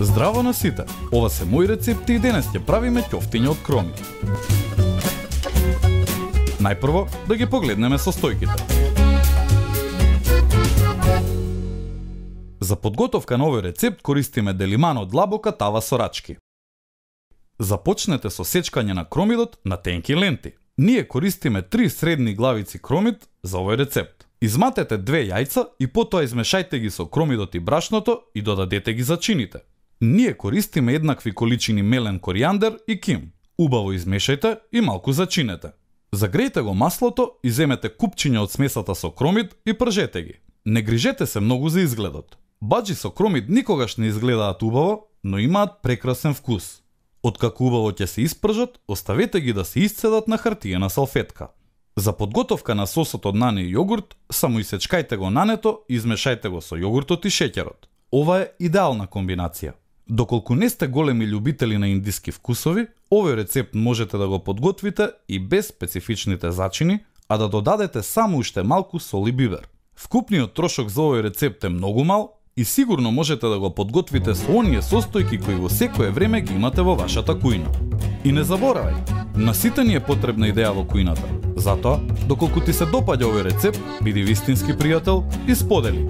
Здраво на сите! Ова се мои рецепти и денес ќе правиме ќофтиња од кромит. Најпрво да ги погледнеме состојките. За подготовка на овој рецепт користиме делиман од лабока тава со рачки. Започнете со сечкање на кромидот на тенки ленти. Ние користиме 3 средни главици кромид за овој рецепт. Изматете 2 јајца и потоа измешајте ги со кромидот и брашното и додадете ги за чините. Ние користиме еднакви количини мелен коријандер и ким. Убаво измешајте и малку зачинете. Загрејте го маслото и земете купчиња од смесата со кромид и пржете ги. Не грижете се многу за изгледот. Баџи со кромид никогаш не изгледаат убаво, но имаат прекрасен вкус. Откако убаво ќе се испржат, оставете ги да се исцедат на хартиена салфетка. За подготовка на сосот од нане и јогурт, само исечкајте го нането и измешајте го со јогуртот и шеќерот. Ова е идеална комбинација. Доколку не сте големи љубители на индиски вкусови, овој рецепт можете да го подготвите и без специфичните зачини, а да додадете само уште малку сол и бибер. Вкупниот трошок за овој рецепт е многу мал и сигурно можете да го подготвите со оние состојки кои во секое време ги имате во вашата кујна. И не заборавај, на сите ни е потребна идеја во кујната. Затоа, доколку ти се допаѓа овој рецепт, биди вистински пријател и сподели.